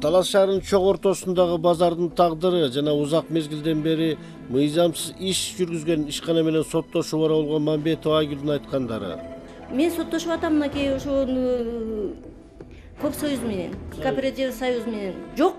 Талас шаарынын чоң ортосундагы базардын тагдыры жана узак мезгилден бери мыйзамсыз иш жүргүзгөн ишкана менен соттошуу бар болгон Мамбетова Айгүлдүн айткандары. Мен соттошуп атам мынакей ошо Коп союз менен, кооператив союз менен. Жок,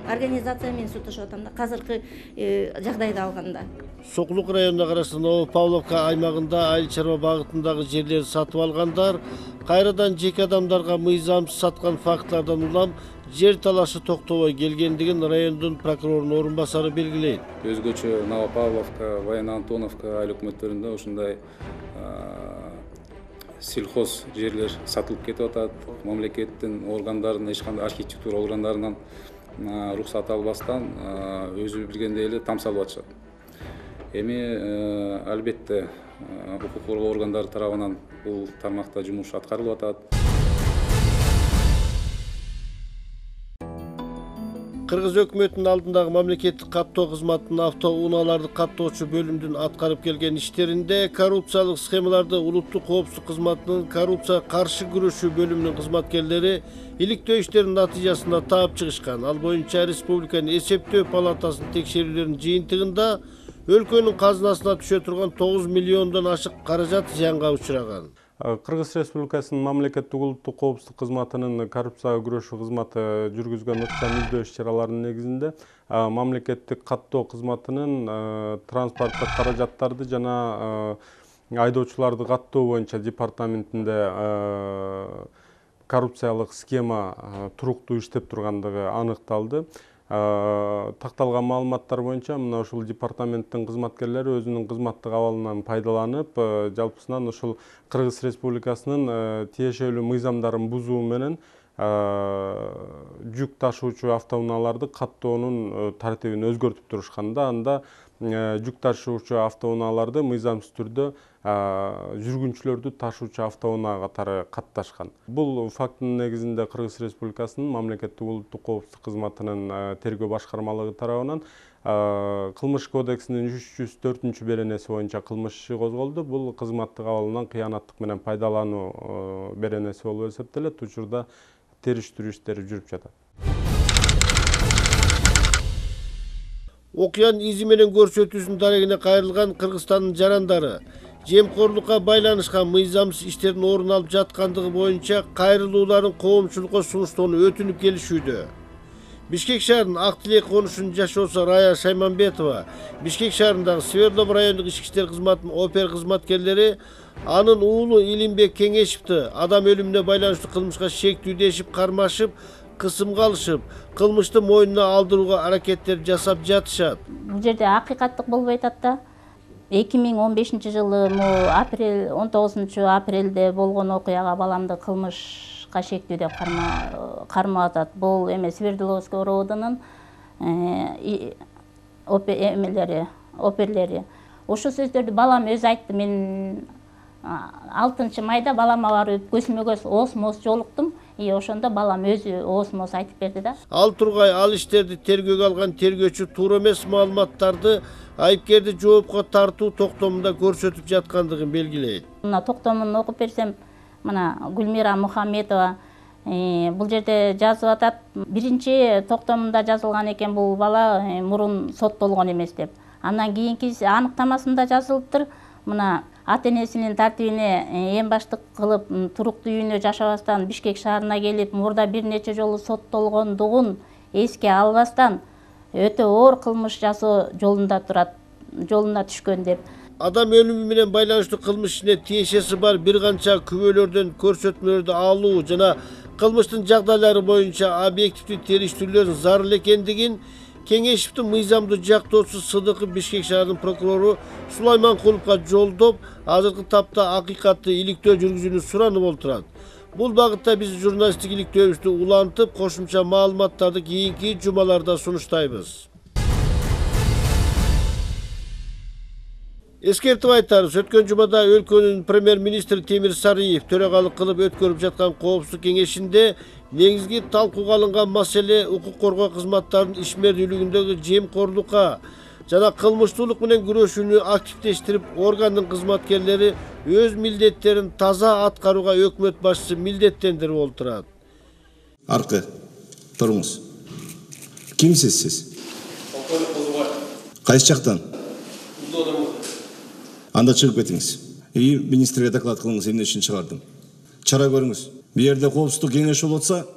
организация менен соттошуп атам да азыркы жагдайды алганда. Сокулук районуна караштуу Новопавловка аймагында айыл чарба багытындагы жерлерди сатып алгандар кайрадан жеке адамдарга мыйзамсыз саткан фактлардан улам жер талашы токтобой келгендигин райондун прокурорунун орун басары белгилейт. Өзгөчө Новопавловка, Военно-Антоновка айыл өкмөттөрүндө ушундай сельхоз жерлер сатылып кетип атат. Мамлекеттин органдарынан эч кандай архитектура органдарынан уруксат албастан өзү билгендей эле там салып атышат. Эми албетте укук коргоо органдары тарабынан бул тармакта жумуш аткарылып атат. Кыргыз өкмөтүнүн алдындагы мамлекеттик каттоо кызматынын автоунааларды каттоочу бөлүмдүн аткарып келген иштеринде коррупциялык схемаларды улуттук коопсуздук кызматынын коррупцияга каршы күрөшүү бөлүмүнүн кызматкерлери иликтөө иштеринин натыйжасында таап чыгышкан. Ал боюнча Республиканын эсептөө палатасынын текшерүүлөрүнүн жыйынтыгында өлкөнүн казынасына түшө турган 9 миллиондон ашык каражат зыянга учураган. Кыргыз Республикасынын мамлекеттик улуттук коопсуздук кызматынын коррупцияга күрөшүү кызматы жүргүзгөн ыкчам издөө иш-чараларынын негизинде мамлекеттик каттоо кызматынын транспорттук каражаттарды жана айдоочуларды каттоо боюнча департаментинде коррупциялык схема туруктуу иштеп тургандыгы аныкталды. Такталган маалыматтар боюнча мына ушул департаменттин кызматкерлери өзүнүн кызматтык абалынан пайдаланып, жалпысынан ушул Кыргыз Республикасынын тиешелүү мыйзамдарын бузуу менен жүк ташуучу автоунааларды каттоонун тартибин өзгөртүп турушканда, анда жүк ташуучу автоунааларды мыйзамсыз түрдө жүргүнчүлөрдү ташуучу автоунаа катары катташкан. Бул фактынын негизинде Кыргыз Республикасынын мамлекеттик улуттук коопсуздук кызматынын тергөө башкармалыгы тарабынан Кылмыш кодексинин 304 беренеси боюнча кылмыш иши козголду. Бул кызматтык абалынан кыянаттык менен пайдалануу беренеси болуп эсептелет. Учурда териштирүү иштери жүрүп жатат. Окуянын изи менен көрсөтүүсүнүн дарегине кайрылган Кыргызстандын жарандары жемкорлукка байланышкан мыйзамсыз иштердин орун алып жаткандыгы боюнча кайрылууларын коомчулукка сунуштоону өтүнүп келишүүдө. Бишкек шаарынын Ак Тилек конушунун жашоосу Рая Шайманбетова Бишкек шаарындагы Свердлов райондук ички иштер кызматынын опер кызматкерлери анын уулу Илимбек Кеңешевди адам өлүмүнө байланыштуу кылмышка шектүү дешип кармашып, кысымга алышып, кылмышты мойнуна алдырууга аракеттер жасап жатышат. Бул жерде акыйкаттык болбой атат да. 2015 жылы 19 апрелде болгон окуяга баламды кылмышка шектүү деп кармап атат. Бул эме Свердловский роодунун оперлери. Ошол сөздөрдү балам өзү айтты. Мен 6 майда балама барып көзмө көз ооз-мооз жолуктум. Ошондо балам өзү ооз-мооз айтып берди да. Ал тургай ал иштерди тергөөгө алган тергөөчү туура эмес маалыматтарды айыпкерди жоопко тартуу токтомунда көрсөтүп жаткандыгын белгилейт. Мына токтомун окуп берсем, мына Гүлмира Мухаммедова бул жерде жазып атат. Биринчи токтомунда жазылган экен бул бала мурун соттолгон эмес деп. Андан кийинки аныктамасында жазылыптыр. Мына ата-энесинин тартибине эң баштык кылып туруктуу үйүнө жашабастан Бишкек шаарына келип, мурда бир нече жолу соттолгондугун эске албастан өтө оор кылмыш жасоо жолуна түшкөн деп. Адам өлүмү менен байланыштуу кылмыш ишине тиешеси бар бир канча күбөлөрдөн көрсөтмөлөрдү алуу жана кылмыштын жагдайлары боюнча объективдүү териштирүүлөр зарыл экендигин Кеңешевдин мыйзамдуу жактоочусу Сыдыков Бишкек шаарынын прокурору Сулайманкуловго жолдоп, азыркы тапта акыйкатты иликтөө жүргүзүүнү суранып олтурат. Бул багытта биз журналисттик иликтөөбүздү улантып, кошумча маалыматтарды кийинки жумаларда сунуштайбыз. Эскертип айтарбыз, өткөн жумада өлкөнүн премьер-министри Темир Сарыев төрагалык кылып өткөрүп жаткан коопсуздук кеңешинде негизги талкууга алынган маселе укук коргоо кызматтарынын ишмердүүлүгүндөгү жемкорлукка жана кылмыштуулук менен күрөшүүнү активдештирип, органдын кызматкерлери өз милдеттерин таза аткарууга өкмөт башчысы милдеттендирип олтурат. Аркы, туруңуз. Кимсиз сиз? Кайсы жактан? Анда чыгып кетиңиз. Министрге доклад кылыңыз, эмне үчүн чыгардым. Чара көрүңүз. Бу жерде коопсуздук кеңеши болуп атса,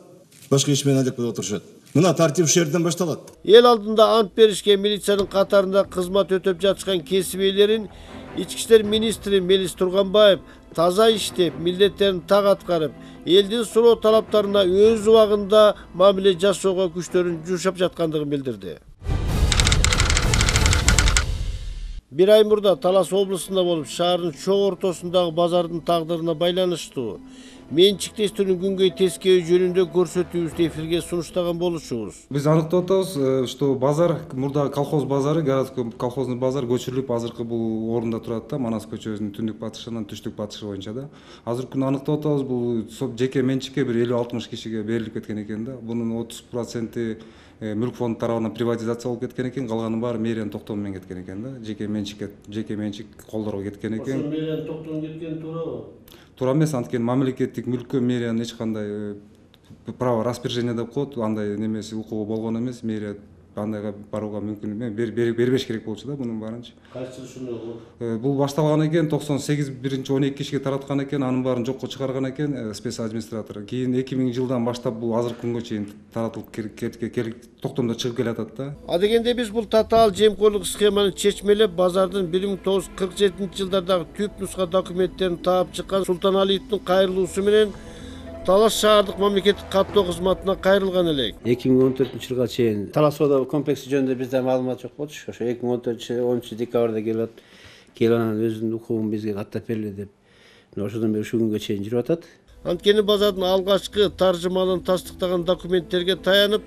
башка иш менен алек болуп отурушат. Мына тартип ушул жерден башталат. Эл алдында ант беришкен милициянын катарында кызмат өтөп жатышкан кесип ээлерин Ички иштер министри Мелис Турганбаев таза иштеп, милдеттерин так аткарып, элдин суроо талаптарына өз убагында мамиле жасоого күчтөрүн жумшап жаткандыгын билдирди. Бир ай мурда Талас облусунда болуп, шаардын чоң ортосундагы базардын тагдырына байланыштуу менчиктештүүнүн күнгөй тескеби жөнүндө көрсөтүүбүздү эфирге сунуштаган болушубуз. Биз аныктап атабыз, что базар мурда колхоз базары, городской колхозный базар көчүрүлүп, азыркы бул орунда турат да, Манас көчөсүнүн түндүк батышынан түштүк батышы боюнча да. Азыркы күнү аныктап атабыз, бул жеке менчикке бир 50-60 кишиге берилип кеткен экен да. Бунун 30% мүлк фонду тарабынан приватизация болуп кеткен экен, калганын баары мэриянын токтому менен кеткен экен да. Жеке менчик колдорго кеткен экен. Ошо мэриянын токтому кеткени туурабы? Туура эмес, анткени мамлекеттик мүлккө мэриянын эч кандай право распоряжение деп коет, андай немеси укугу болгон эмес. Мэрия андайга барууга мүмкүн эмес, бербеш керек болчу да мунун баарынчы. Кайсы ушуну? Бул башталган экен 98 12 кишиге тараткан экен, анын баарын жокко чыгарган экен спец администратор. Кийин 2000 жылдан баштап бул азыркы күнгө чейин таратылып токтомдо чыгып келатат да. Адегенде биз бул татаал жемкорлук схеманы чечмелеп, базардын 1947 жылдардагы түп нуска документтерин таап чыккан Султаналиевдин кайрылуусу менен Талас шаардык мамлекеттик каттоо кызматына кайрылган элек. 2014 жылга чейин Талас соода комплекси жөнүндө бизде маалымат жок болчу. Ошо 2014 10 декабрда келип анан өзүнүн укугун бизге каттап берели деп. Ошодон бери ушул күнгө чейин жүрүп атат. Анткени базардын алгачкы таржымалын тастыктаган документтерге таянып,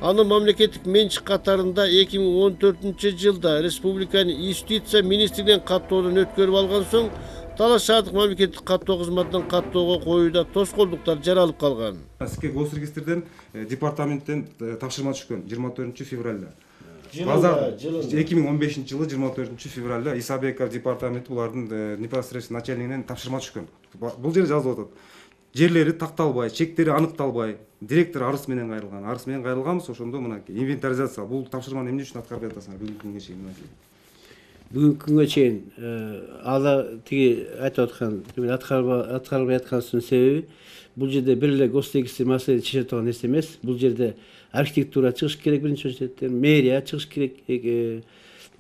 аны мамлекеттик менчик катарында 2014 жылда республиканын юстиция министрлигинен каттоодон өткөрүп алган соң, Талас шаардык мамлекеттик каттоо кызматынан каттоого коюуда тоскоолдуктар жаралып калган. Сизге госрегистрден департаменттен тапшырма түшкөн 24 февралда. Базар 2015 жылы 24 февралда Исабеков департаменти булардын непосредственно начальнигинен тапшырма түшкөн. Бул жерде жазылып атат. Жерлери такталбай, чектери аныкталбай, директор арыз менен кайрылган. Арыз менен кайрылганбыз, ошондо мынакей инвентаризация. Бул тапшырманы эмне үчүн аткарып жатасыңар бүгүнкү күнгө чейин? Бүгүнкү күнгө чейин ала тиги айтып аткан аткарылбай атканын себеби бул жерде бир эле госрегистр маселени чече турган нерсе эмес. Бул жерде архитектура чыгыш керек, биринчи очереден мэрия чыгыш керек,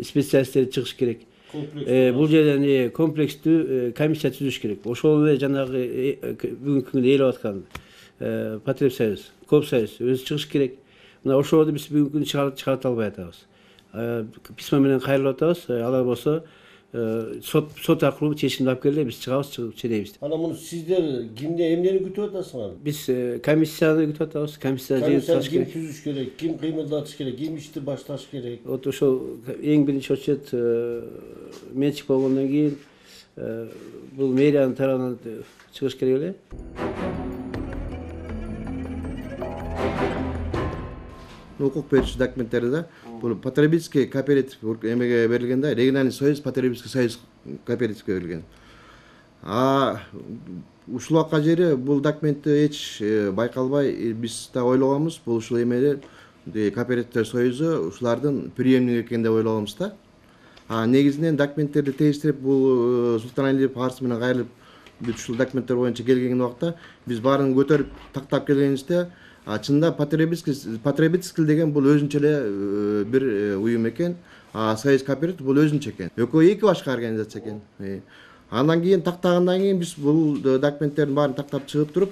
специалисттер чыгыш керек. Бул жерден комплекстүү комиссия түзүш керек. Ошол эле жанагы бүгүнкү күндө ээлеп аткан Потребсоюз, Коопсоюз өзү чыгыш керек. Мына ошолорду биз бүгүнкү күндө чыгарып албай атабыз. Письма менен кайрылып атабыз. Алар болсо сот аркылуу чечимди алып келе, биз чыгабыз, чыдейбиз. Анан муну сиздер кимден эмнени күтүп атасыңар? Биз комиссияны күтүп атабыз. Комиссия жыйылыш керек. Ким түзүш керек, ким кыймылдатыш керек, ким ишти башташ керек? Вот ошол эң биринчи очеред менчик болгондон кийин бул мэриянын тарабынан чыгыш керек эле. Укук берүүчү документтерде бул потребительский кооператив эмеге берилген да, региональный союз потребительский союз кооперативге берилген. Ушул акка жери бул документти эч байкалбай, биз да ойлогонбуз, бул ушул эмеде кооперативдер союзу ушулардын преемниги экен деп ойлогонбуз да. Негизинен документтерди тештирип, бул Султаналиев арыз менен кайрылып, бүт ушул документтер боюнча келген убакта биз баарын көтөрүп тактап келгенибизде, чында потребительский деген бул өзүнчө эле бир уюм экен, союз кооператив бул өзүнчө экен. Экөө эки башка организация экен. Андан кийин тактагандан кийин биз бул документтердин баарын тактап чыгып туруп,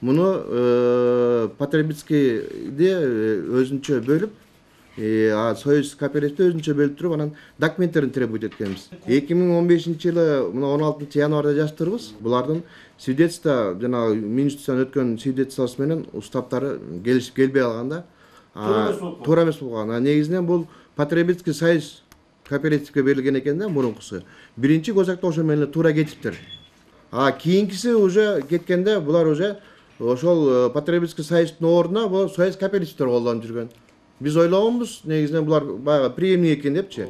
муну потребительскийди өзүнчө бөлүп, союз кооперативди өзүнчө бөлүп туруп, анан документтерин требовать эткенбиз. 2015 жылы мына 16 январда жазып турбуз. Булардын свидетельство, жана министрден өткөн свидетельствосы менен устаптары келишип келбей калганда, туура эмес болгон. Негизинен бул потребительский союз кооперативге берилген экен да, мурункусу. Биринчи госакта ошо менен туура кетиптир. Кийинкиси уже кеткенде булар уже ошол потребительский союздун ордуна бул союз кооперативдер колдонуп жүргөн. Биз ойлогонбуз, негизинен булар баягы преемник экен депчи.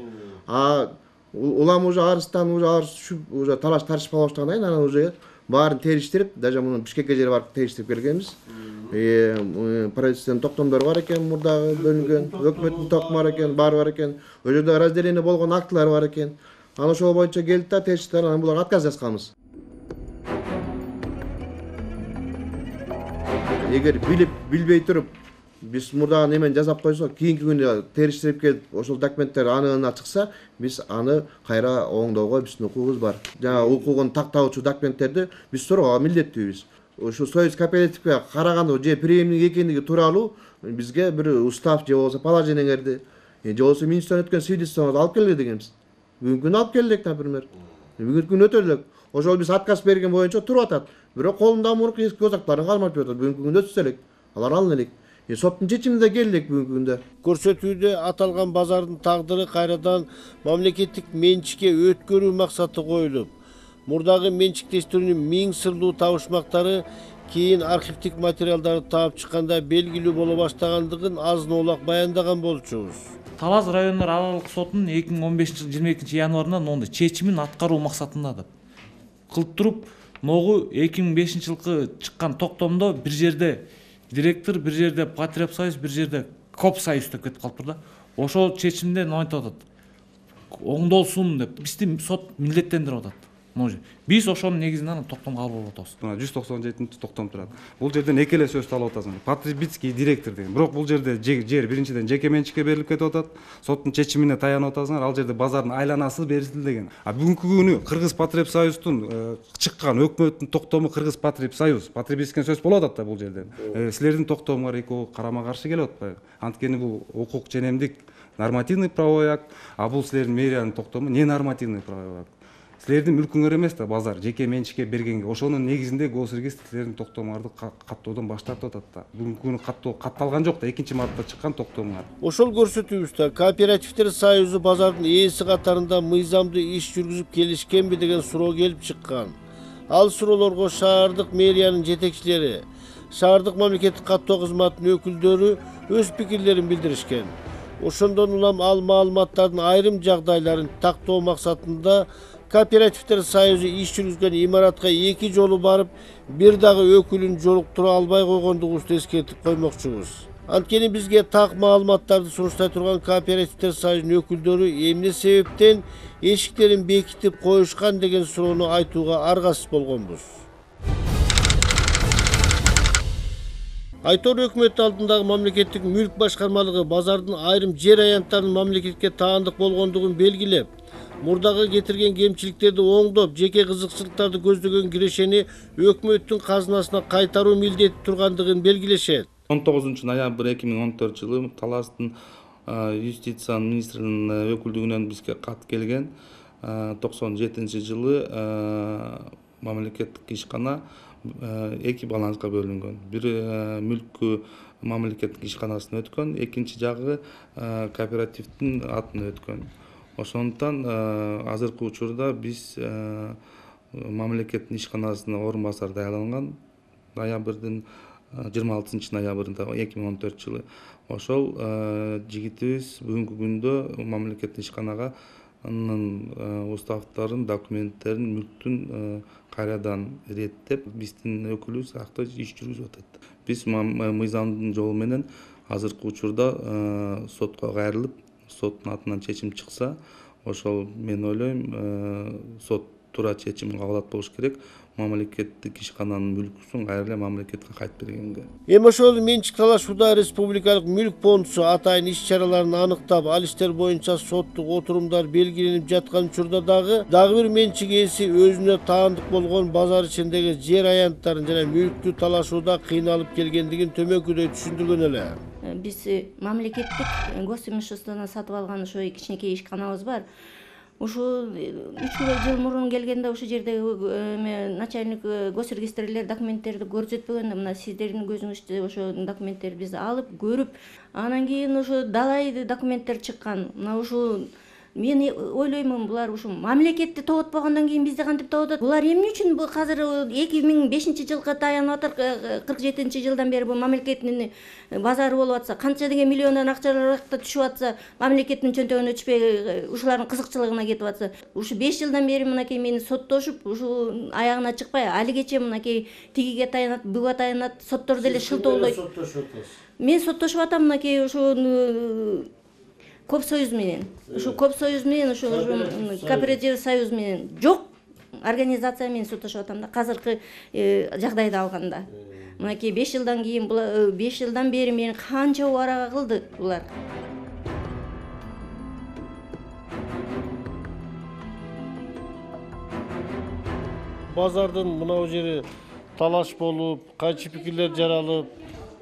Улам уже арыздан уже түшүп, уже талаш тартышпа баштагандан кийин анан уже баарын териштирип, даже муну Бишкекке жер барып териштирип келгенбиз. Правительственный токтомдор бар экен, мурдагы бөлүнгөн, өкмөттүн токуму бар экен, баары бар экен. Ол жерде разделение болгон актылар бар экен. Анан ошол боюнча келди да териштирип, анан буларга отказ жазганбыз. Эгер билип, билбей туруп, биз мурдагы немени жасап койсок, кийинки күнү териштирип келип, ошол документтер анығына чыкса, биз аны кайра оңдоого биздин укугубуз бар. Жана укугун тактаучу документтерди биз суроого милдеттүүбүз. Ушу союз кооперативге караганда же преемник экендиги тууралуу бизге бир устав же болбосо положениелерди, же болбосо министрден өткөн свидетельствону алып келе дегенбиз. Бүгүнкү күнү алып келдик, например. Бүгүнкү күнү өтө элек. Ошол биз отказ берген боюнча туруп атат. Бирок колунда мурунку эски өзактарын калмап жатат. Бүгүнкү күндө өтсө элек. Алар алына элек. Соттун чечимине келдик бүгүнкү күндө. Көрсөтүүдө аталган базардын тагдыры кайрадан мамлекеттик менчикке өткөрүү максаты коюлуп, мурдагы менчиктештирүүнүн миң сырлуу табышмактары кийин архивдик материалдарды таап чыкканда белгилүү боло баштагандыгын азын-оолак баяндаган болчубуз. Талас райондор аралык сотунун 2015 жылы 22 январында мондай чечимин аткаруу максатында деп кылып туруп, ногу 2005 жылкы чыккан токтомдо бир жерде директор, бир жерде Потребсоюз, бир жерде Копсоюз деп кетип калыптыр да. Ошол чечимде неме айтып атат? Оңдолсун деп бизди сот милдеттендирип атат. Биз ошонун негизинен токтомго кабыл болуп атабыз. 197 токтом турат. Бул жерден эки эле сөздү алып атасың. Потребительский директор деген. Бирок бул жерде жер биринчиден жеке менчикке берилип кетип атат. Соттун чечимине таянып атасыңар. Ал жерде базардын айланасы берилген. Бүгүнкү күнү Кыргыз Потребсоюздун чыккан өкмөттүн токтому Кыргыз Потребсоюз, потребительский сөз болуп атат да бул жерден. Силердин токтомуңар экөө карама каршы келип атпайбы? Анткени бул укук женемдик нормативный правовой акт, а бул силердин мэриянын токтому не нормативный правовой акт. Силердин мүлкүңөр эмес да базар жеке менчикке бергенге. Ошонун негизинде госрегистр силердин токтомуңарды каттоодон баш тартып атат да. Бүгүнкү күнү катталган жок да, 2-мартта чыккан токтомуңар. Ошол көрсөтүүбүздө кооперативдер союзу базардын ээси катарында мыйзамдуу иш жүргүзүп келишкенби деген суроо келип чыккан. Ал суроолорго шаардык мэриянын жетекчилери, шаардык мамлекеттик каттоо кызматынын өкүлдөрү өз пикирлерин билдиришкен. Ошондон улам ал маалыматтардын айрым жагдайларын тактоо максатында Кооперативдер союзу иш жүргүзгөн имаратка 2 жолу барып, бир дагы өкүлүн жолуктура албай койгондугубузду эскертип коймокчубуз. Анткени бизге так маалыматтарды сунуштай турган Кооперативдер союзунун өкүлдөрү эмне себептен эшиктерин бекитип коюшкан деген суроону айтууга аргасыз болгонбуз. Айтор өкмөт алдындагы мамлекеттик мүлк башкармалыгы базардын айрым жер аянттарынын мамлекетке таандык болгондугун белгилеп, мурдагы кетирген кемчиликтерди оңдоп, жеке кызыкчылыктарды көздөгөн кирешени өкмөттүн казынасына кайтаруу милдети тургандыгын белгилешет. 19 ноябрь 2014 жылы Таластын юстиция министринин өкүлдүгүнөн бизге кат келген. 97 жылы мамлекеттик ишкана 2 баланска бөлүнгөн. Бир мүлкү мамлекеттик ишканасына өткөн, экинчи жагы кооперативдин атына өткөн. Ошондуктан азыркы учурда биз мамлекеттин ишканасына орун басар даярданган ноябрдын 26 ноябрында 2014 жылы. Ошол жигитибиз бүгүнкү күндө мамлекеттик ишканага уставтарын, документтерин, мүлктүн кайрадан иреттеп, биздин өкүлүбүз акты иш жүргүзүп атат. Биз мыйзамдын жолу менен азыркы учурда сотко кайрылып, соттун атынан чечим чыкса, ошол мен ойлойм, сот туура чечим кабыл алат болуш керек. Мамлекеттик ишкананын мүлкүсүн кайра эле мамлекетке кайтып бергенге. Эми ошол менчик талашууда республикалык мүлк фондусу атайын иш-чараларын аныктап, ал иштер боюнча соттук отурумдар белгиленип жаткан учурда дагы бир менчик ээси өзүнө таандык болгон базар ичиндеги жер аянттарын жана мүлктү талашууда кыйналып келгендигин төмөнкүдөй түшүндүргөн эле. Биз мамлекеттик госимуществону сатып алган ошо кичинекей ишканабыз бар. Ушу 3 жыл мурун келгенде ошол жерде начальник госрегистрлер документтерди көрсөтпөгөн. Мына сиздердин көзүңүздө ошо документтерди биз алып көрүп, анан кийин ошо далай документтер чыккан. Мына ушул Мен ойлоймун, булар ушу мамлекетти тоготпогондон кийин бизди кантип тоготот? Булар эмне үчүн бул азыр 2005-жылга таянып атыр, 47-жылдан бери бул мамлекеттин базары болуп атса, канча деген миллиондон акчалар түшүп атса, мамлекеттин чөнтөгүнө түшпөй ушулардын кызыкчылыгына кетип атса, ушу 5 жылдан бери мынакей мени соттошуп, ушу аягына чыкпай, алигече мынакей тигиге таянат, буга таянат, соттор деле шылтоолойт. Мен соттошуп атам мынакей ушу Коп союз менен. Ушу Коп союз менен, ушу кооператив союз менен жок организация менен соттошуп атам да. Азыркы жагдайды алганда. Мынакей 5 жылдан кийин, 5 жылдан бери мени канча убарага кылды булар. Базардын мынау жери талаш болуп, кайчы пикирлер жаралып,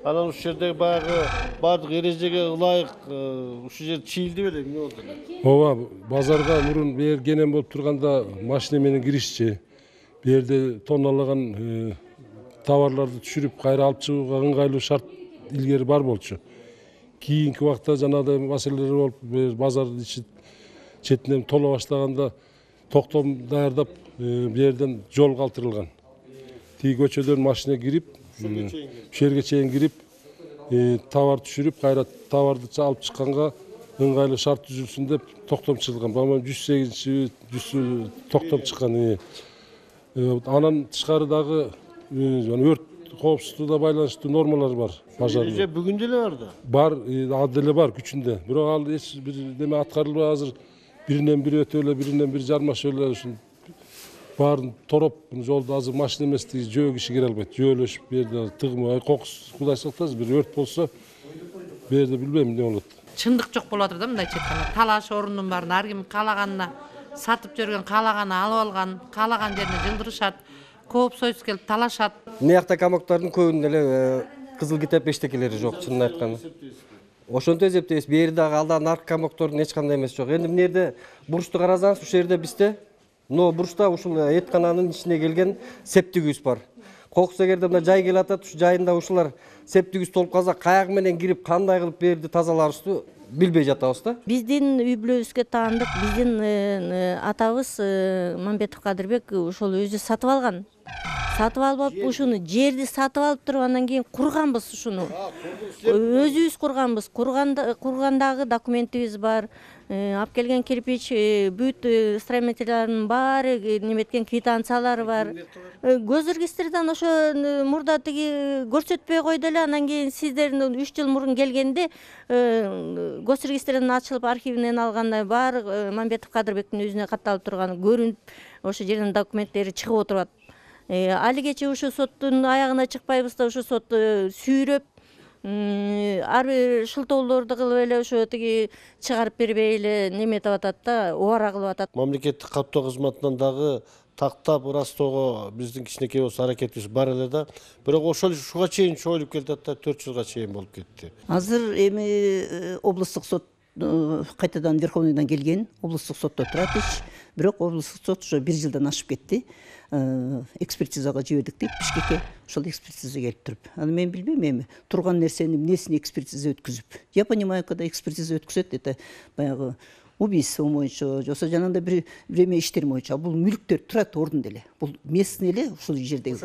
анан ушул жерде баягы бардык эрежеге ылайык ушул жер чийилди беле, эмне болду эле? Ооба, базарга мурун бээр кенен болуп турганда машина менен киришчи. Бээрде тонналаган товарларды түшүрүп кайра алып чыгууга ыңгайлуу шарт илгери бар болчу. Кийинки убакта жанагыдай маселелер болуп, базардын ичи четинен толо баштаганда токтом даярдап, бээрден жол калтырылган. Тиги көчөдөн машина кирип, ушул жерге чейин кирип, товар түшүрүп, кайра товарды алып чыкканга ыңгайлуу шарт түзүлсүн деп токтом чыгылган. Баман 108 токтом чыккан. Анан тышкары дагы өрт коопсуздугуна байланыштуу нормалар бар базарда. Эреже бүгүн деле бар да. Бар, ал деле бар күчүндө. Бирок ал эч бир неме аткарылбай азыр биринен бири өтө эле, биринен бири жармашып эле ушун баарын тороп, жолду азыр машина эместиги жөө киши кире албайт. Жөөлөшүп берде тыгмы, кокус Кудай сактасын, бир өрт болсо берде билбейм эмне болот. Чындык жок болуп атыр да, мындай четканда. Талаш орунун баарын ар ким каалаганына сатып жүргөн, каалаганы алып алган, каалаган жерине жылдырышат. Коп союз келип талашат. Мыякта камактардын көбүнүн эле кызыл китеп эчтекелери жок, чынын айтканда. Ошонто эсептейбиз. Бери дагы алда наркомактордун эч кандай эмеси жок. Эndi мына жерде бурчту карасаңыз, ушул жерде бизде но бурчта ушул эткананын ичине келген септик бар. Кокус эгерде мына жай келип атат, ушу жайында ушулар септик толуп калса, каяк менен кирип, кандай кылып берди тазаларыбызды билбей жатабыз да. Биздин үй бүлөбүзгө таандык, биздин атабыз Мамбетов Кадырбек ошол өзү сатып алган. Сатып алып, ушуну жерди сатып алып тургандан кийин курганбыз ушуну. Өзүбүз курганбыз. Кургандагы документибиз бар. Алып келген кирпич, бүт строительдердин баары неметкен квитанциялары бар. Көз регистрден ошо мурда тиги көрсөтпөй койду эле, анан кийин сиздердин 3 жыл мурун келгенде гос регистрден ачылып архивинен алгандай бар Мамбетов Кадырбектин өзүнө катталып турганы көрүнүп, ошо жердин документтери чыгып отурат. Алигече ушу соттун аягына чыкпайбыз да, ушу сот сүйрөп ар бир шылтоолорду кылып эле ошо тиги чыгарып бербей эле неметип атат да, убара кылып атат. Мамлекеттик каттоо кызматынан дагы тактап ырастоого биздин кичинекей болсо аракетибиз бар эле да. Бирок ошол ушуга чейин чоюлуп келатат да, 4 жылга чейин болуп кетти. Азыр эми облустук сот кайтадан Верховныйдан келген, облустук сотто турат иш. Бирок облустук сот ошо 1 жылдан ашып кетти. Экспертизага жибердик дейт Бишкекке. Ошол экспертиза келип туруп. Аны мен билбейм эми турган нерсени эмнесин экспертиза өткүзүп. Я понимаю, когда экспертиза өткүзөт, это баягы убийство боюнча, жоксо жанагындай бир эме иштер боюнча. Бул мүлктөр турат ордун эле. Бул местный эле ушул жердеги.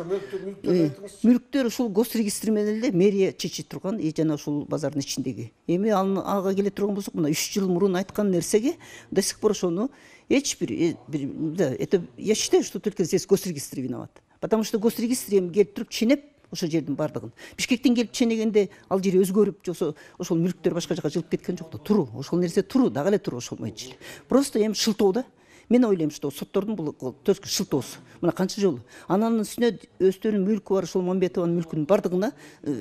Мүлктөр ушул гос регистри менен эле мэрия чечип турган, жана ушул базардын ичиндеги. Эми ага келе турган болсок, мына 3 жыл мурун айткан нерсеге до сих пор ошону эч бир, да, это я считаю, что только здесь госрегистр виноват. Потому что госрегистр эми келип туруп ченеп ошол жердин бардыгын. Бишкектен келип ченегенде ал жери өзгөрүп, жоксо ошол мүлктөр башка жака жылып кеткен жок да. Туру, ошол нерсе туру, дагы эле туру ошол боюнча. Просто эми шылтоо да. Мен ойлойм, что соттордун бул төскө шылтоосу. Мына канча жолу. Анын үстүнө өздөрүнүн мүлкү бар, ошол Мамбетованын мүлкүнүн бардыгына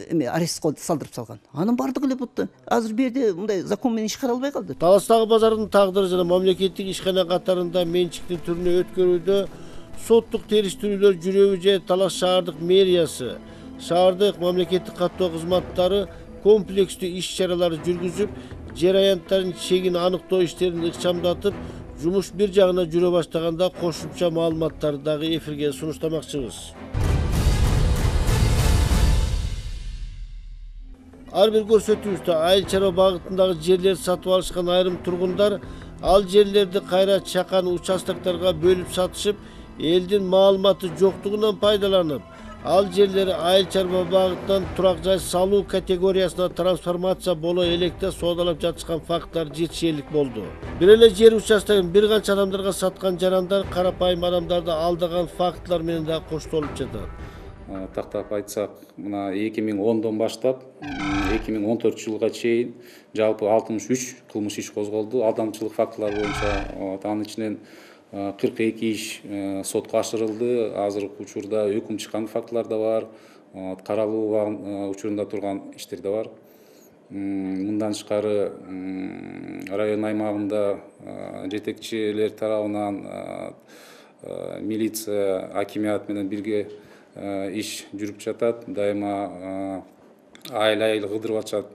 эме арест салдырып салган. Анын бардыгы эле бутта. Азыр бу жерде мындай закон менен иш кара албай калды. Таластагы базардын тагдыры жана мамлекеттик ишкана катарында менчиктин түрүнө өткөрүүдө соттук териштирүүлөр жүрөбү же Талас шаардык мэриясы, шаардык мамлекеттик каттоо кызматтары комплекстүү иш-чаралар жүргүзүп, жер аянттарын чегин аныктоо иштерин ыкчамдатып, жумуш бир жагына жүрө баштаганда кошумча маалыматтарды дагы эфирге сунуштамакчыбыз. Ар бир көрсөтүүбүздө айыл чарба багытындагы жерлерди сатып алышкан айрым тургундар ал жерлерди кайра чакан участокторго бөлүп сатышып, элдин маалыматы жоктугунан пайдаланып, ал жерлери айыл чарба багытынан турак жай салуу категориясына трансформация боло электе соодалап жатышкан факттар жетишерлик болду. Бир эле жер участогун бир канча адамдарга саткан жарандар карапайым адамдарды алдаган фактылар менен да коштолуп жатат. Тактап айтсак, мына 2010дон баштап 2014 жылга чейин жалпы 63 кылмыш иш козголду. Алдамчылык фактылары боюнча анын ичинен 42 иш сотко ашырылды. Азыркы учурда өкүм чыккан фактылар да бар, каралуу учурунда турган иштер да бар. Мындан тышкары район аймагында жетекчилер тарабынан милиция, акимият менен бирге иш жүрүп жатат. Дайыма айыл кыдырып атышат,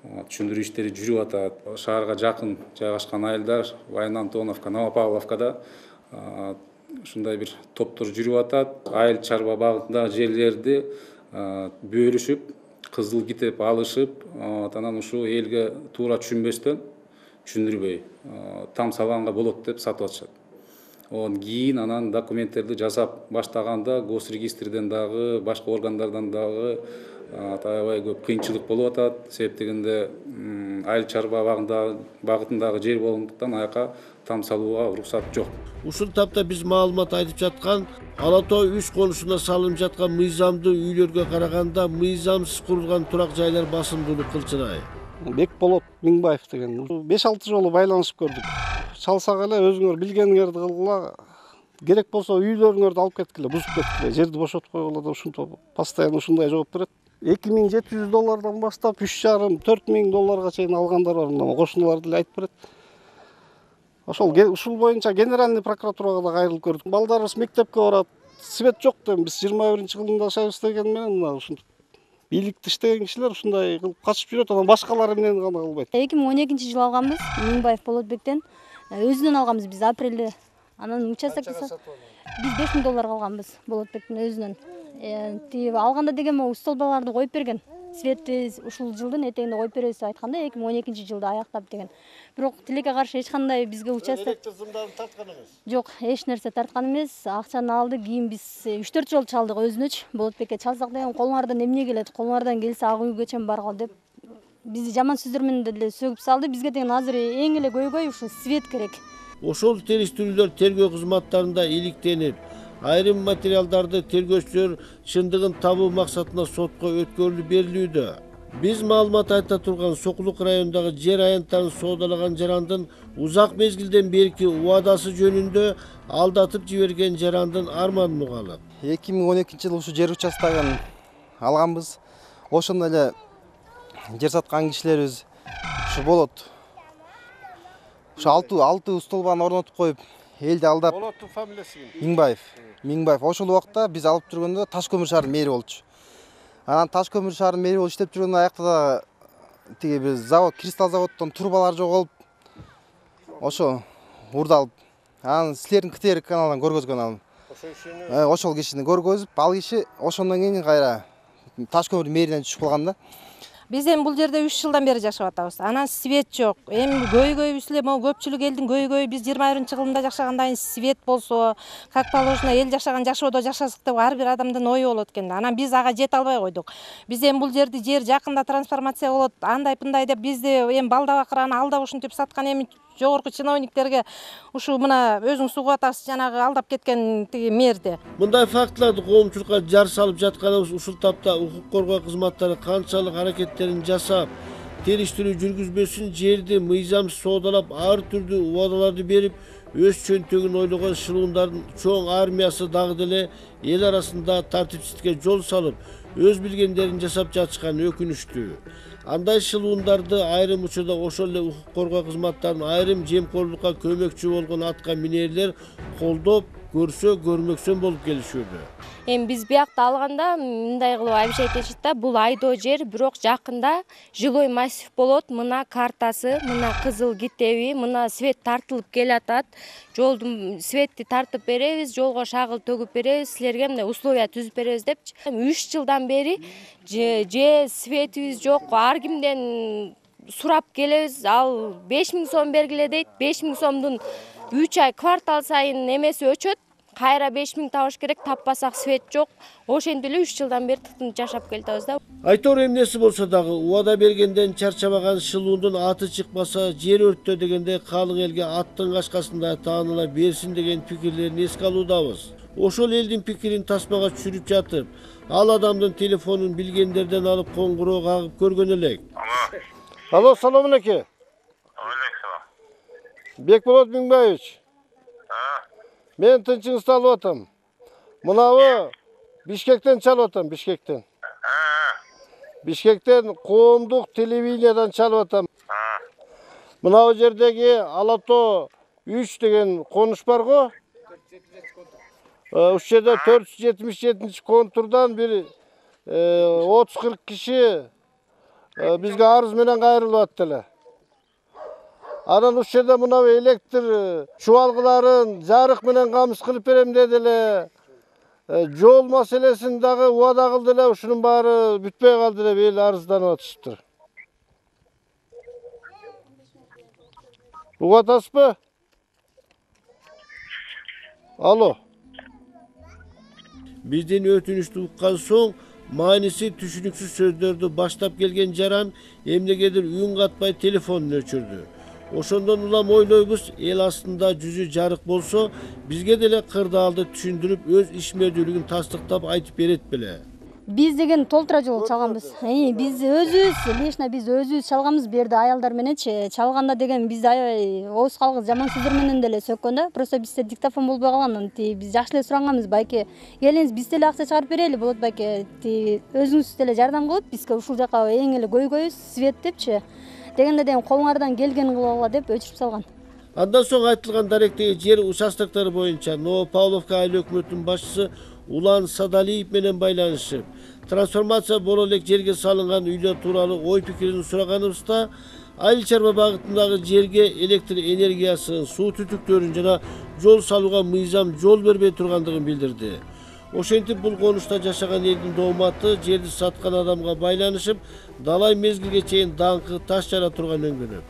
түшүндүрүү иштери жүрүп атат. Шаарга жакын жайгашкан айылдар Вайын Антоновка, Новопавловкада ушундай бир топтор жүрүп атат. Айыл чарба багытындагы жерлерди бөлүшүп, кызыл китеп алышып, анан ушу элге туура түшүнбөстөн, түшүндүрбөй там салганга болот деп сатып атышат. Онан кийин анан документтерди жасап баштаганда госрегистрден дагы, башка органдардан дагы аябай көп кыйынчылык болуп атат. Себеп дегенде айыл чарба багытындагы жер болгондуктан аяка там салууга уруксат жок. Ушул тапта биз маалымат айтып жаткан Ала Тоо 3 конушуна салынып жаткан мыйзамдуу үйлөргө караганда мыйзамсыз курулган турак жайлар басымдуулук кылчырай. Бекболот Миңбаев деген 5-6 жолу байланышып көрдүк. Чалсак эле өзүңөр билгениңерди кылгыла, керек болсо үйлөрүңөрдү алып кеткиле, бузуп кеткиле, жерди бошотуп койгула деп ушинтип постоянно ушундай жооп берет. $2700 баштап $3,5–4,000 чейин алгандар бар, мына кошуналар деле айтып берет. Ушул боюнча генеральный прокуратурага да кайрылып көрдүк. Балдарыбыз мектепке барат, свет жок дейм, биз 21-кылымда жашайбыз деген менен мына ушунтип бийликти иштеген кишилер ушундай кылып качып жүрөт, анан башкалары менен гана кылбайт. 2012-жылы алганбыз Миңбаев Болотбектен. Өзүнөн алганбыз биз апрелде. Анан участокто биз $5,000 алганбыз Болотбектин өзүнөн. Тиги алганда деген могу столбаларды коюп берген. Светти ушул жылдын этегинде коюп беребиз деп айтканда 2012-жылда аяктап деген. Бирок тилекке каршы эч кандай бизге участок Электр сымдарын тарткан эмес. Жок, эч нерсе тарткан эмес. Акчаны алды, кийин биз 3-4 жол чалдык өзүнөчү. Болотбекке чалсак деген колуңардан эмне келет? Колуңардан келсе ак үйгө чейин баргыл деп бизди жаман сөздөр менен деле сөгүп салды. Бизге деген азыр эң эле көйгөй ушу свет керек. Ошол териштирүүлөр тергөө кызматтарында иликтенип, айрым материалдарды тергөөчүлөр чындыгын табуу максатында сотко өткөрүлүп берилүүдө. Биз маалымат айта турган Сокулук районундагы жер аянттарын соодалаган жарандын узак мезгилден берки убадасы жөнүндө алдатып жиберген жарандын арманын угалы. 2012-жылы ушу жер участогун алганбыз. Ошондо эле жер саткан кишилерибиз ушу болот. Ушу 6 столбаны орнотуп коюп, элди алдап. Болоттун фамилиясы ким? Миңбаев. Ошол убакта биз алып жүргөндө Таш көмүр шаарынын мэри болчу. Анан Таш көмүр шаарынын мэри болуп иштеп жүргөндө аякта да тиги биз завод, кристалл заводдон трубалар жоголуп, ошо урдалып, анан силердин КТР каналынан көргөзгөн алым. Ошол кишини көргөзүп, ал киши ошондон кийин кайра Таш көмүр мэринен түшүп калган да. Биз эми бул жерде 3 жылдан бери жашап атабыз. Анан свет жок. Эми көйгөйүбүз эле могу көпчүлүк элдин көйгөйү биз 21-кылымда жашагандай свет болсо, как положено эл жашаган жашоодо жашасак деп ар бир адамдын ою болот экен. Анан биз ага жете албай койдук. Биз эми бул жерди жер жакында трансформация болот, андай-пындай деп бизди эми балда-бакыраны алдап ушинтип саткан эми жогорку чиновниктерге ушу мына өзүңүз угуп атасыз, жанагы алдап кеткен тиги мэрди. Мындай фактыларды коомчулукка жар салып жатканыбыз ушул тапта укук коргоо кызматтары канчалык аракеттерин жасап, териштирүү жүргүзбөсүн, жерди мыйзамсыз соодалап, ар түрдүү убадаларды берип, өз чөнтөгүн ойлогон шылуундардын чоң армиясы дагы деле эл арасында тартипсиздикке жол салып, өз билгендерин жасап жатышкан өкүнүчтүү. Андай шылуундарды айрым учурда ошол эле укук коргоо кызматтарынын айрым жемкорлукка көмөкчү болгон атка минерлер колдоп, көрсө көрмөксөн болуп келишүүдө. Эми биз биякта алганда мындай кылып обещать этишет да, бул айдоо жер, бирок жакында жилой массив болот, мына картасы, мына кызыл китеби, мына свет тартылып келатат. Жолдун светти тартып беребиз, жолго шагыл төгүп беребиз, силерге мындай условия түзүп беребиз депчи. 3 жылдан бери же светибиз жок, ар кимден сурап келебиз, ал 5000 сом бергиле дейт. 5000 сомдун 3 ай квартал сайын эмеси өчөт. Кайра 5000 табыш керек, таппасак свет жок. Ошентип эле 3 жылдан бери тытынып жашап келатабыз да. Айтор эмнеси болсо дагы убада бергенден чарчабаган шылуундун аты чыкпаса жер өрттө дегенде калың элге аттын кашкасында тааныла берсин деген пикирлерин эске алуудабыз. Ошол элдин пикирин тасмага түшүрүп жатып, ал адамдын телефонун билгендерден алып коңгуроо кагып көргөн элек. Алло, салам алейкум. Бекболот Миңбаевич. Мен тынчыңызды алып атам. Мынабы Бишкектен чалып атам, Бишкектен. Бишкектен коомдук телевидениядан чалып атам. Мынабы жердеги Алато 3 деген конуш бар го. Ушул жерде 477 контурдан бир 30-40 киши бизге арыз менен кайрылып атты эле. Анан ушул жерде мынабы электр чубалгыларын жарык менен камыз кылып берем деди эле. Жол маселесин дагы убада кылды эле, ушунун баары бүтпөй калды деп эл арызданып атышыптыр. Угуп атасызбы? Алло. Биздин өтүнүштү уккан соң мааниси түшүнүксүз сөздөрдү баштап келген жаран эмнегедир үн катпай телефонун өчүрдү. Ошондон улам ойлойбуз, эл астында жүзү жарык болсо, бизге деле кырдаалды түшүндүрүп, өз ишмердүүлүгүн тастыктап айтып берет беле. Биз деген толтура жол чалганбыз. Биз өзүбүз, лично биз өзүбүз чалганбыз, бу жерде аялдар мененчи. Чалганда деген бизди аябай ооз калгыс жаман сөздөр менен деле сөккөн да. Просто бизде диктофон болбой калган. Биз жакшы эле сураганбыз, байке келиңиз биз деле акча чыгарып берели, болот байке. Өзүңүз деле жардам кылып, бизге ушул жака эң эле көйгөйүбүз, свет депчи. Дегенде деген колуңардан келгенин кылгыла деп өчүрүп салган. Андан соң айтылган даректеги жер участоктору боюнча Новопавловка айыл өкмөтүнүн башчысы Улан Садалиев менен байланышып, трансформация боло элек жерге салынган үйлөр тууралуу ой пикирин сураганыбызда, айыл чарба багытындагы жерге электр энергиясын, суу түтүктөрүн жана жол салууга мыйзам жол бербей тургандыгын билдирди. Ошентип бул конушта жашаган элдин дооматы жерди саткан адамга байланышып, далай мезгилге чейин даңкы таш жара турган өңгөнөк.